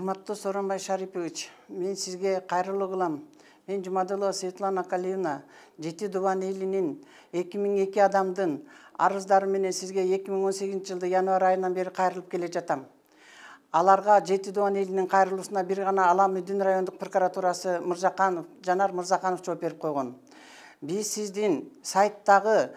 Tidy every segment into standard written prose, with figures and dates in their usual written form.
Урматтуу Сооронбай Шарипович, мен сизге кайрылуу кылам. Мен Жумадылова Светлана Калиевна, Жети Дубан элинин 2002 адамдын арыздары менен сизге 2018-жылды январь айынан бери кайрылып келе жатам. Аларга Жети Дубан элинин кайрылуусуна бир гана Ала Мүдүн райондук прокуратурасы Жанар Мырзаканов жооп берип койгон. Биз сиздин сайттагы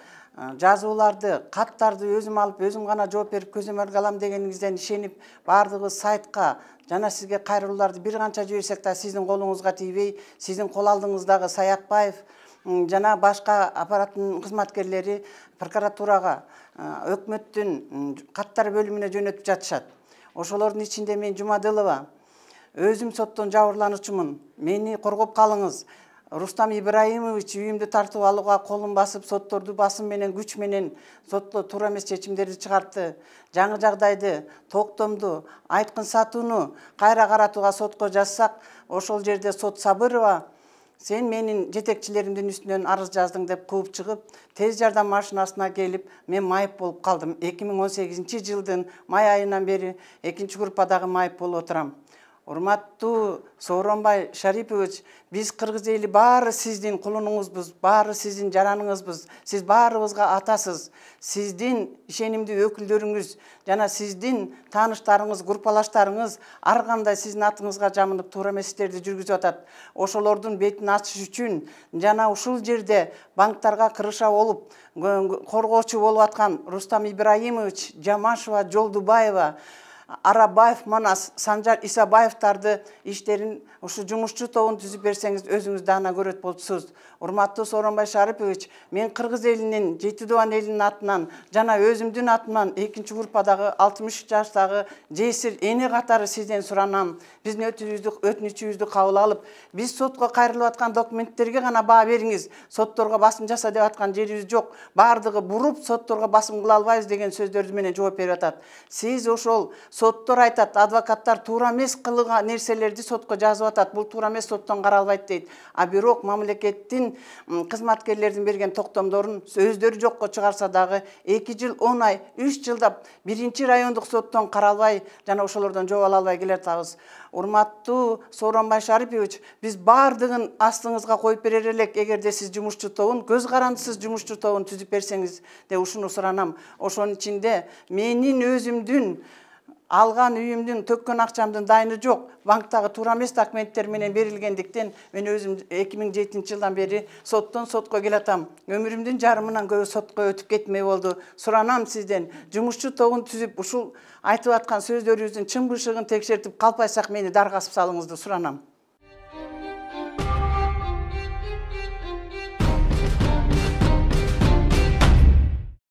жазууларды, каттарды өзүм алып, өзүм гана жооп берип көзөмөлгө алам дегениңизден ишенип, бардыгы сайтка жана сизге кайрылууларды бир канча жиберсек да сиздин колуңузга тийбей, сиздин кол алдыңыздагы Саякбаев жана башка аппараттын кызматкерлери прокуратурага, өкмөттүн каттар бөлүмүнө жөнөтүп жатышат. Ошолордун ичинде мен Жумадылова өзүм соттон жабырлануучумун. Мени коргоп калыңыз. Рустам Ибраимович үйүмдү тартып алууга колун басып, сотторду басым менен, күч менен сотто туура эмес чечимдерди чыгартты. Жаңы жагдайды, токтомду, айткын сатууну кайра каратууга сотко жазсак, ошол жерде сот Сабырова сен менин жетекчилеримдин үстүнөн арыз жаздың деп кууп чыгып, тез жардам машинасына келип, мен майып болуп калдым. 2018-жылдын май айынан бери 2-группадагы майып болуп отурам. Урматтуу Сооронбай Шарипович, биз кыргыз эли баары сиздин кулунуңузбуз, баары сиздин жараныңызбыз. Сиз баарыбызга атасыз. Сиздин ишенимдүү өкүлдөрүңүз жана сиздин тааныштарыңыз, группалаштарыңыз ар кандай сиздин атыңызга жамынып туура эмес иштерди жүргүзүп атат. Ошолордун бетин ачыш үчүн жана ушул жерде банктарга кырыша болуп, коргоочу болуп аткан Рустам Ибраимович, Жамашева, Жолдубаева, Арабаев, Манас, Санжар Исабаевтарды иштерин ушу жумушчу тобун түзүп берсеңиз өзүңүз дагы көрөт болчусуз. Урматтуу Сооронбай Шарипович, мен кыргыз элинин, Жети Дубан элинин атынан жана өзүмдүн атыман 2-группадагы 63 жаштагы жесир эне катары сизден суранам. Биздин өтүнүчүбүздү кабыл алып, биз сотко кайрылып аткан документтерге гана баа бериңиз. Сотторго басым жаса деп аткан жерибиз жок. Бардыгы буруп, сотторго басым кыла албайбыз деген сөздөрдү менен жооп берип атат. Сиз ошол соттор айтат, адвокаттар туура эмес кылган нерселерди сотко жазып атат. Бул туура эмес, соттон каралбайт дейт. А бирок мамлекеттин кызматкерлердин берген токтомдорун өздөрү жокко чыгарса дагы 2 жыл 10 ай, 3 жылдап 1-райондук соттон каралбай жана ошолордон жооп ала албай келатабыз. Урматтуу Сооронбай Шарипович, биз бардыгын астыңызга коюп берер элек, эгерде сиз жумушчу тобун, көз карандысыз жумушчу тобун түзүп берсеңиз деп ушуну суранам. Ошонун ичинде менин өзүмдүн алган үйүмдүн, төккөн акчамдын дайыны жок. Банктагы туура эмес документтер менен берилгендиктен мен өзүм 2007-жылдан бери соттон сотко келатам. Өмүрүмдүн жарымынан көбү сотко өтүп кетмей болду. Суранам сизден, жумушчу тобун түзүп, ушул айтып аткан сөздөрүбүздүн чын бышыгын текшертип калпайсак мени даргасып салыңызды суранам.